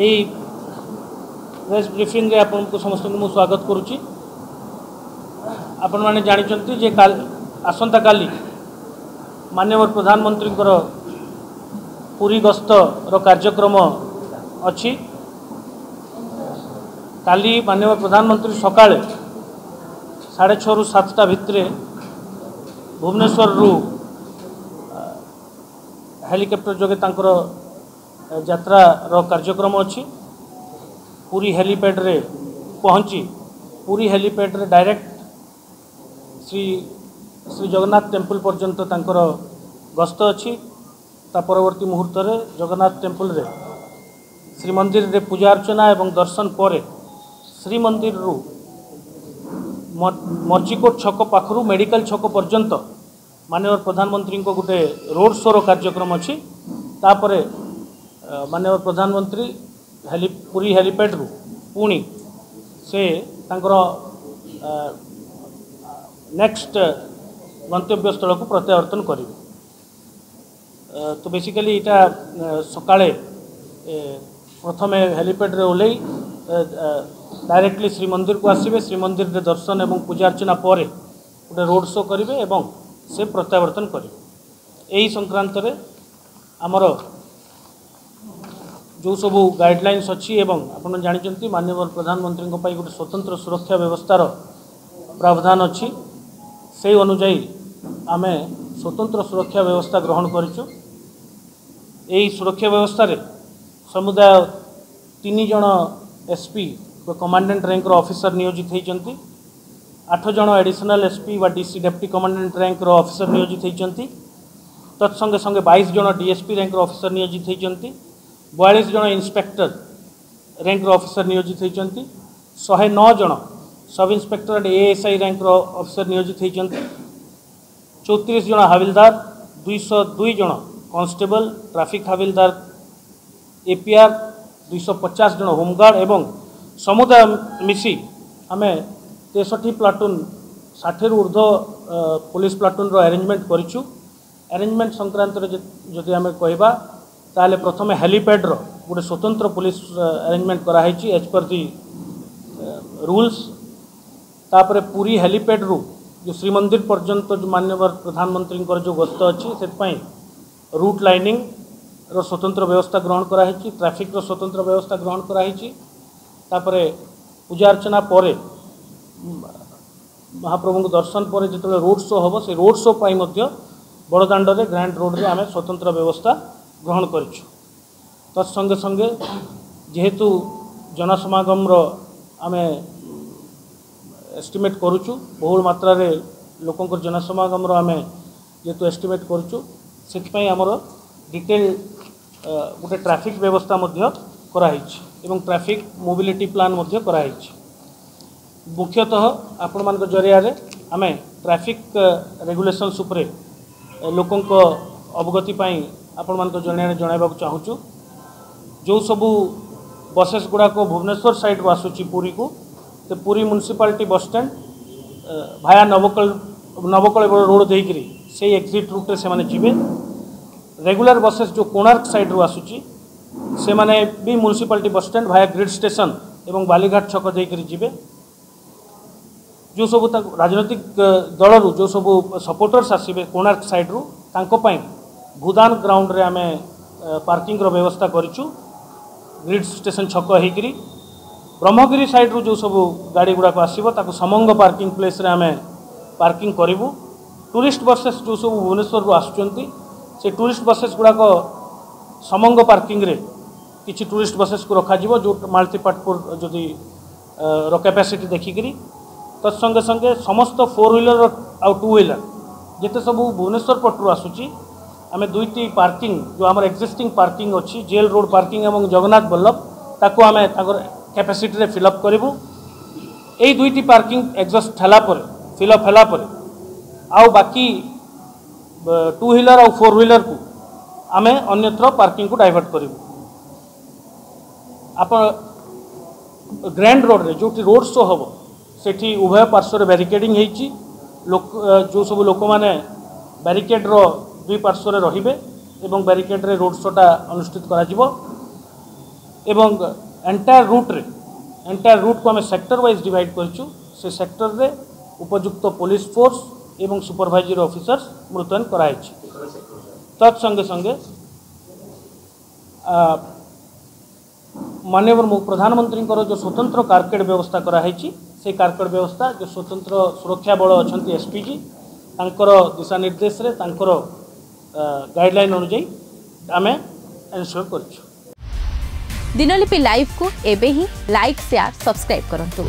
ଏଇ ପ୍ରେସ୍ ବ୍ରିଫିଂରେ ଆପଣଙ୍କୁ ସମସ୍ତଙ୍କୁ ମୁଁ ସ୍ୱାଗତ କରୁଛି। ଆପଣମାନେ ଜାଣିଛନ୍ତି ଯେ ଆସନ୍ତାକାଲି ମାନ୍ୟବର ପ୍ରଧାନମନ୍ତ୍ରୀଙ୍କର ପୁରୀ ଗସ୍ତର କାର୍ଯ୍ୟକ୍ରମ ଅଛି। କାଲି ମାନ୍ୟବର ପ୍ରଧାନମନ୍ତ୍ରୀ ସକାଳେ 6:30ରୁ 7ଟା ଭିତରେ ଭୁବନେଶ୍ୱରରୁ ହେଲିକପ୍ଟର ଯୋଗେ ତାଙ୍କର ଯାତ୍ରାର କାର୍ଯ୍ୟକ୍ରମ ଅଛି। ପୁରୀ ହେଲିପ୍ୟାଡ଼୍ରେ ପହଞ୍ଚି ପୁରୀ ହେଲିପ୍ୟାଡ଼୍ରେ ଡାଇରେକ୍ଟ ଶ୍ରୀ ଶ୍ରୀ ଜଗନ୍ନାଥ ଟେମ୍ପଲ୍ ପର୍ଯ୍ୟନ୍ତ ତାଙ୍କର ଗସ୍ତ ଅଛି। ତା ପରବର୍ତ୍ତୀ ମୁହୂର୍ତ୍ତରେ ଜଗନ୍ନାଥ ଟେମ୍ପଲ୍ରେ ଶ୍ରୀମନ୍ଦିରରେ ପୂଜା ଅର୍ଚ୍ଚନା ଏବଂ ଦର୍ଶନ ପରେ ଶ୍ରୀମନ୍ଦିରରୁ ମର୍ଜିକୋଟ ଛକ ପାଖରୁ ମେଡ଼ିକାଲ ଛକ ପର୍ଯ୍ୟନ୍ତ ମାନ୍ୟବର ପ୍ରଧାନମନ୍ତ୍ରୀଙ୍କ ଗୋଟେ ରୋଡ଼ ଶୋର କାର୍ଯ୍ୟକ୍ରମ ଅଛି। ତାପରେ ମାନ୍ୟବର ପ୍ରଧାନମନ୍ତ୍ରୀ ପୁରୀ ହେଲିପ୍ୟାଡ଼୍ରୁ ପୁଣି ସେ ତାଙ୍କର ନେକ୍ସଟ ଗନ୍ତବ୍ୟସ୍ଥଳକୁ ପ୍ରତ୍ୟାବର୍ତ୍ତନ କରିବେ। ତ ବେସିକାଲି ଏଇଟା ସକାଳେ ପ୍ରଥମେ ହେଲିପ୍ୟାଡ଼୍ରେ ଓହ୍ଲେଇ ଡାଇରେକ୍ଟଲି ଶ୍ରୀମନ୍ଦିରକୁ ଆସିବେ। ଶ୍ରୀମନ୍ଦିରରେ ଦର୍ଶନ ଏବଂ ପୂଜା ଅର୍ଚ୍ଚନା ପରେ ଗୋଟେ ରୋଡ଼ ଶୋ କରିବେ ଏବଂ ସେ ପ୍ରତ୍ୟାବର୍ତ୍ତନ କରିବେ। ଏହି ସଂକ୍ରାନ୍ତରେ ଆମର ଯେଉଁ ସବୁ ଗାଇଡ଼ଲାଇନ୍ସ ଅଛି ଏବଂ ଆପଣ ଜାଣିଛନ୍ତି ମାନ୍ୟବର ପ୍ରଧାନମନ୍ତ୍ରୀଙ୍କ ପାଇଁ ଗୋଟେ ସ୍ୱତନ୍ତ୍ର ସୁରକ୍ଷା ବ୍ୟବସ୍ଥାର ପ୍ରାବଧାନ ଅଛି, ସେଇ ଅନୁଯାୟୀ ଆମେ ସ୍ୱତନ୍ତ୍ର ସୁରକ୍ଷା ବ୍ୟବସ୍ଥା ଗ୍ରହଣ କରିଛୁ। ଏହି ସୁରକ୍ଷା ବ୍ୟବସ୍ଥାରେ ସମୁଦାୟ 3 ଜଣ ଏସ୍ ପି ବା କମାଣ୍ଡାଣ୍ଟ ର୍ୟାଙ୍କର ଅଫିସର ନିୟୋଜିତ ହୋଇଛନ୍ତି, 8 ଜଣ ଆଡ଼ିସନାଲ୍ ଏସ୍ ପି ବା ଡି ସି ଡେପୁଟି କମାଣ୍ଡାଣ୍ଟ ର୍ୟାଙ୍କର ଅଫିସର ନିୟୋଜିତ ହୋଇଛନ୍ତି, ତତ୍ସଙ୍ଗେ ସଙ୍ଗେ 22 ଜଣ ଡି ଏସ୍ ପି ର୍ୟାଙ୍କର ଅଫିସର ନିୟୋଜିତ ହୋଇଛନ୍ତି, 42 ଜଣ ଇନ୍ସପେକ୍ଟର ର୍ୟାଙ୍କର ଅଫିସର ନିୟୋଜିତ ହୋଇଛନ୍ତି, 109 ଜଣ sub inspector and A S I ର୍ୟାଙ୍କର officer ନିୟୋଜିତ ହୋଇଛନ୍ତି, 34 ଜଣ ହାବିଲଦାର, 202 ଜଣ କନଷ୍ଟେବଲ, ଟ୍ରାଫିକ୍ ହାବିଲଦାର, ଏପିଆର୍, 250 ଜଣ ହୋମଗାର୍ଡ଼ ଏବଂ ସମୁଦାୟ ମିଶି ଆମେ 63 ପ୍ଲାଟୁନ୍ 60ରୁ ଉର୍ଦ୍ଧ୍ୱ ପୋଲିସ ପ୍ଲାଟୁନ୍ର ଆରେଞ୍ଜମେଣ୍ଟ କରିଛୁ। ଆରେଞ୍ଜମେଣ୍ଟ ସଂକ୍ରାନ୍ତରେ ଯଦି ଆମେ କହିବା ତାହେଲେ ପ୍ରଥମେ ହେଲିପ୍ୟାଡ଼୍ର ଗୋଟେ ସ୍ୱତନ୍ତ୍ର ପୋଲିସ ଆରେଞ୍ଜମେଣ୍ଟ କରାହେଇଛି ଏଜ୍ ପର୍ ଦି ରୁଲ୍ସ। ତାପରେ ପୁରୀ ହେଲିପ୍ୟାଡ଼୍ରୁ ଯେଉଁ ଶ୍ରୀମନ୍ଦିର ପର୍ଯ୍ୟନ୍ତ ଯେଉଁ ମାନ୍ୟବର ପ୍ରଧାନମନ୍ତ୍ରୀଙ୍କର ଯେଉଁ ଗସ୍ତ ଅଛି ସେଥିପାଇଁ ରୁଟ୍ ଲାଇନିଂର ସ୍ୱତନ୍ତ୍ର ବ୍ୟବସ୍ଥା ଗ୍ରହଣ କରାହେଇଛି, ଟ୍ରାଫିକ୍ର ସ୍ୱତନ୍ତ୍ର ବ୍ୟବସ୍ଥା ଗ୍ରହଣ କରାହେଇଛି। ତାପରେ ପୂଜା ଅର୍ଚ୍ଚନା ପରେ ମହାପ୍ରଭୁଙ୍କୁ ଦର୍ଶନ ପରେ ଯେତେବେଳେ ରୋଡ଼ ଶୋ ହେବ ସେ ରୋଡ଼ ଶୋ ପାଇଁ ମଧ୍ୟ ବଡ଼ଦାଣ୍ଡରେ ଗ୍ରାଣ୍ଡ ରୋଡ଼ରେ ଆମେ ସ୍ୱତନ୍ତ୍ର ବ୍ୟବସ୍ଥା ଗ୍ରହଣ କରିଛୁ। ତତ୍ସଙ୍ଗେ ସଙ୍ଗେ ଯେହେତୁ ଜନସମାଗମର ଆମେ ଏଷ୍ଟିମେଟ୍ କରୁଛୁ, ବହୁଳ ମାତ୍ରାରେ ଲୋକଙ୍କର ଜନସମାଗମର ଆମେ ଯେହେତୁ ଏଷ୍ଟିମେଟ୍ କରୁଛୁ, ସେଥିପାଇଁ ଆମର ଡିଟେଲ୍ ଗୋଟେ ଟ୍ରାଫିକ୍ ବ୍ୟବସ୍ଥା ମଧ୍ୟ କରାହେଇଛି ଏବଂ ଟ୍ରାଫିକ୍ ମୋବିଲିଟି ପ୍ଲାନ୍ ମଧ୍ୟ କରାହେଇଛି। ମୁଖ୍ୟତଃ ଆପଣମାନଙ୍କ ଜରିଆରେ ଆମେ ଟ୍ରାଫିକ୍ ରେଗୁଲେସନ୍ସ ଉପରେ ଲୋକଙ୍କ ଅବଗତି ପାଇଁ ଆପଣମାନଙ୍କ ଜରିଆରେ ଜଣାଇବାକୁ ଚାହୁଁଛୁ। ଯେଉଁ ସବୁ ବସେସ୍ ଗୁଡ଼ାକ ଭୁବନେଶ୍ୱର ସାଇଡ଼୍ରୁ ଆସୁଛି ପୁରୀକୁ, ସେ Puri municipality bus stand via Nabakalebara road ଦେଇକରି ସେଇ ଏକ୍ଜିଟ୍ ରୁଟ୍ରେ ସେମାନେ ଯିବେ। ରେଗୁଲାର ବସେସ୍ ଯେଉଁ କୋଣାର୍କ ସାଇଡ଼୍ରୁ ଆସୁଛି ସେମାନେ ବି municipality bus stand via grid station ଏବଂ ବାଲିଘାଟ ଛକ ଦେଇକରି ଯିବେ। ଯେଉଁ ସବୁ ତାଙ୍କୁ ରାଜନୈତିକ ଦଳରୁ ଯେଉଁ ସବୁ ସପୋର୍ଟର୍ସ ଆସିବେ କୋଣାର୍କ ସାଇଡ଼୍ରୁ, ତାଙ୍କ ପାଇଁ ଭୂଦାନ ଗ୍ରାଉଣ୍ଡରେ ଆମେ ପାର୍କିଂର ବ୍ୟବସ୍ଥା କରିଛୁ ଗ୍ରିଡ୍ ଷ୍ଟେସନ୍ ଛକ ହେଇକରି। ବ୍ରହ୍ମଗିରି ସାଇଡ଼୍ରୁ ଯେଉଁ ସବୁ ଗାଡ଼ି ଗୁଡ଼ାକ ଆସିବ ତାକୁ ସମଙ୍ଗ ପାର୍କିଂ ପ୍ଲେସ୍ରେ ଆମେ ପାର୍କିଂ କରିବୁ। ଟୁରିଷ୍ଟ ବସେସ୍ ଯେଉଁ ସବୁ ଭୁବନେଶ୍ୱରରୁ ଆସୁଛନ୍ତି ସେ ଟୁରିଷ୍ଟ ବସେସ୍ ଗୁଡ଼ାକ ସମଙ୍ଗ ପାର୍କିଂରେ କିଛି ଟୁରିଷ୍ଟ ବସେସ୍କୁ ରଖାଯିବ, ଯେଉଁ ମାଳତୀପାଟପୁର ଯଦି ର କ୍ୟାପାସିଟି ଦେଖିକିରି। ତତ୍ସଙ୍ଗେ ସଙ୍ଗେ ସମସ୍ତ 4 ହ୍ୱିଲର ଆଉ 2 ହ୍ୱିଲର ଯେତେ ସବୁ ଭୁବନେଶ୍ୱର ପଟରୁ ଆସୁଛି, ଆମେ 2ଟି ପାର୍କିଂ ଯେଉଁ ଆମର ଏକ୍ଜିଷ୍ଟିଂ ପାର୍କିଂ ଅଛି, ଜେଲ୍ ରୋଡ଼ ପାର୍କିଂ ଏବଂ ଜଗନ୍ନାଥ ବଲ୍ଲଭ, ତାକୁ ଆମେ ତାଙ୍କର କ୍ୟାପାସିଟିରେ ଫିଲ୍ଅପ୍ କରିବୁ। ଏଇ 2ଟି ପାର୍କିଂ ଏକ୍ଜଷ୍ଟ ହେଲା ପରେ, ଫିଲ୍ଅପ୍ ହେଲା ପରେ ଆଉ ବାକି 2 ହ୍ୱିଲର ଆଉ 4 ହ୍ୱିଲରକୁ ଆମେ ଅନ୍ୟତ୍ର ପାର୍କିଂକୁ ଡାଇଭର୍ଟ କରିବୁ। ଆପଣ ଗ୍ରାଣ୍ଡ ରୋଡ଼ରେ ଯେଉଁଠି ରୋଡ଼ ଶୋ ହେବ ସେଠି ଉଭୟ ପାର୍ଶ୍ୱରେ ବ୍ୟାରିକେଡ଼ିଂ ହେଇଛି। ଲୋକ ଯେଉଁ ସବୁ ଲୋକମାନେ ବ୍ୟାରିକେଡ଼ର ଦୁଇ ପାର୍ଶ୍ୱରେ ରହିବେ ଏବଂ ବ୍ୟାରିକେଡ଼ରେ ରୋଡ଼ ଶୋଟା ଅନୁଷ୍ଠିତ କରାଯିବ। ଏବଂ ଏଣ୍ଟାୟାର ରୁଟ୍ରେ, ଏଣ୍ଟାୟାର ରୁଟ୍କୁ ଆମେ ସେକ୍ଟର ୱାଇଜ୍ ଡିଭାଇଡ଼ କରିଛୁ। ସେ ସେକ୍ଟରରେ ଉପଯୁକ୍ତ ପୋଲିସ ଫୋର୍ସ ଏବଂ ସୁପରଭାଇଜରୀ ଅଫିସର୍ସ ମୁତୟନ କରାହେଇଛି। ତତ୍ ସଙ୍ଗେ ସଙ୍ଗେ ମାନ୍ୟବର ପ୍ରଧାନମନ୍ତ୍ରୀଙ୍କର ଯେଉଁ ସ୍ୱତନ୍ତ୍ର କାରକେଡ଼ ବ୍ୟବସ୍ଥା କରାହେଇଛି, ସେଇ କାରକେଡ଼ ବ୍ୟବସ୍ଥା, ଯେଉଁ ସ୍ୱତନ୍ତ୍ର ସୁରକ୍ଷା ବଳ ଅଛନ୍ତି ଏସ୍ପିଜି, ତାଙ୍କର ଦିଶା ନିର୍ଦ୍ଦେଶରେ, ତାଙ୍କର ଗାଇଡ଼ଲାଇନ୍ ଅନୁଯାୟୀ ଆମେ ଏନ୍ସ୍યોର କରିଛୁ। ଦିନଲିପି ଲାଇଭ୍କୁ ଏବେ ହିଁ ଲାଇକ୍, ସେୟାର, ସବସ୍କ୍ରାଇବ୍ କରନ୍ତୁ।